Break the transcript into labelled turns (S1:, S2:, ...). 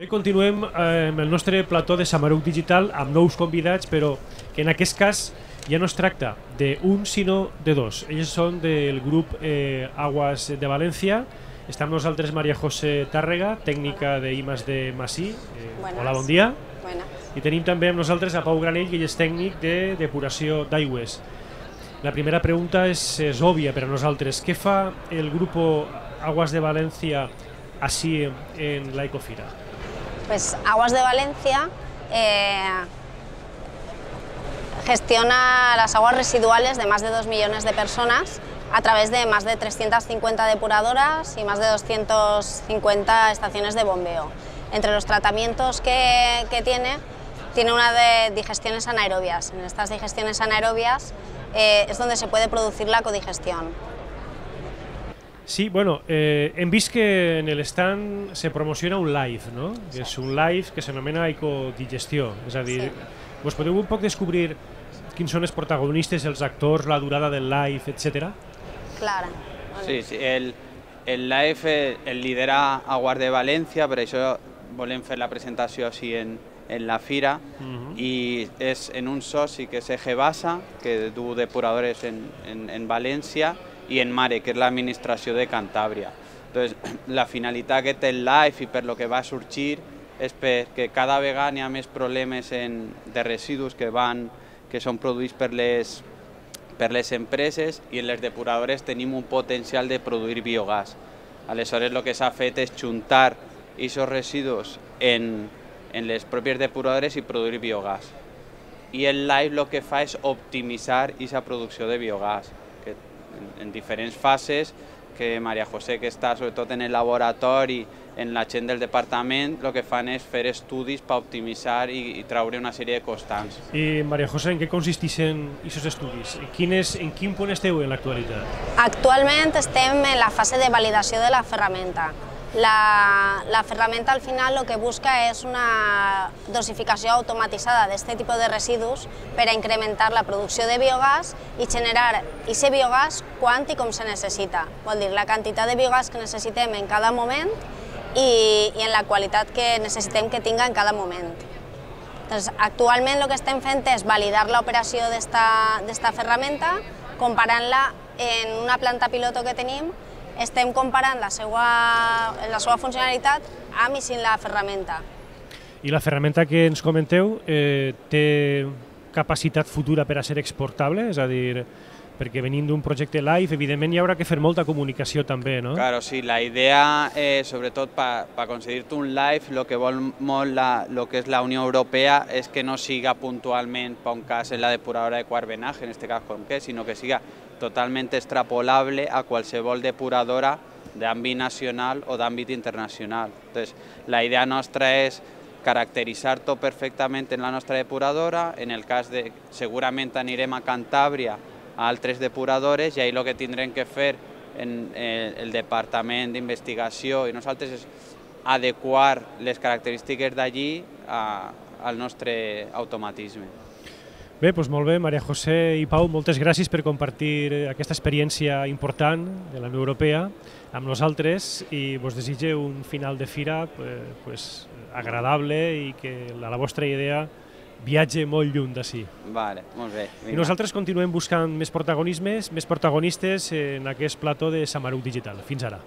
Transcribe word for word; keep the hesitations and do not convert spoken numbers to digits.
S1: continuem amb el nostre plató de Samaruc Digital amb nous convidats, però que en aquest cas ja no es tracta d'un sinó de dos. Ells són del grup eh, Aguas de València. Està amb nosaltres María José Tàrrega, tècnica de I más D más I. Eh, hola, bon dia.
S2: Buenas.
S1: I tenim també amb nosaltres a Pau Granell, que és tècnic de depuració d'aigües. La primera pregunta és, és òbvia per a nosaltres. Què fa el grup Aguas de València així en la Ecofira?
S2: Pues Aguas de Valencia eh, gestiona las aguas residuales de más de dos millones de personas a través de más de trescientas cincuenta depuradoras y más de doscientas cincuenta estaciones de bombeo. Entre los tratamientos que, que tiene, tiene una de digestiones anaerobias. En estas digestiones anaerobias eh, es donde se puede producir la codigestión.
S1: Sí, bueno, eh, hem vist que en l'stand se promociona un live, no? Sí. És un live que s'anomena ecodigestió, és a dir, sí. Vos podeu un poc descobrir quins són els protagonistes, els actors, la durada del live, etcètera?
S2: Clar.
S3: Sí, sí, el, el live el lidera Aguas de València, per això volem fer la presentació així en, en la fira, uh-huh. I és en un soci que és Egebasa, que du depuradores en, en, en València, i en Mare, que és l'administració de Cantàbria. Entonces, la finalitat que té el live i per lo que va sorgir és perquè cada vegada hi ha més problemes en, de residus que, van, que són produïts per les, per les empreses i en les depuradores tenim un potencial de produir biogàs. Aleshores, el que s'ha fet és juntar aquests residus en, en les pròpies depuradores i produir biogàs. I el live el que fa és optimitzar aquesta producció de biogàs, que en diferents fases, que María José, que està sobretot en el laboratori, en la gent del departament, el que fan és fer estudis per optimitzar i, i treure una sèrie de constants.
S1: I María José, en què consisteixen aquests estudis? Quines, en quin punt esteu en l'actualitat?
S2: Actualment estem en la fase de validació de la ferramenta. La, la ferramenta al final lo que busca es una dosificació automatitzada d'aquest tipus de residus per a incrementar la producció de biogàs i generar aquest biogàs quan i com se necessita. Vol dir, la quantitat de biogàs que necessitem en cada moment i, i en la qualitat que necessitem que tinga en cada moment. Entonces, actualment el que estem fent és validar l'operació d'esta ferramenta, comparant-la en una planta piloto que tenim. Estem comparant la seva, la seva funcionalitat amb i sin la ferramenta.
S1: I la ferramenta que ens comenteu eh, té capacitat futura per a ser exportable? És a dir, perquè venint d'un projecte live, evidentment hi haurà que fer molta comunicació també, no?
S3: Claro, sí, la idea, eh, sobretot per pa aconseguir-te un live, el que vol molt la, lo que és la Unió Europea és que no siga puntualment per un cas en la depuradora de quart venaje, en este cas com que, sinó que siga totalment extrapolable a qualsevol depuradora d'àmbit nacional o d'àmbit internacional. Entonces, la idea nostra és caracteritzar-ho perfectament en la nostra depuradora. En el cas de, segurament anirem a Cantàbria a altres depuradores i ahí el que tindrem que fer en el Departament d'Investigació i nosaltres és adequar les característiques d'allí al nostre automatisme.
S1: Bé, doncs molt bé, María José i Pau, moltes gràcies per compartir aquesta experiència important de la Unió Europea amb nosaltres i vos desitge un final de fira pues, agradable i que la, la vostra idea viatge molt lluny d'ací.
S3: Vale, molt bé.
S1: I nosaltres continuem buscant més protagonismes, més protagonistes en aquest plató de Samaruc Digital. Fins ara.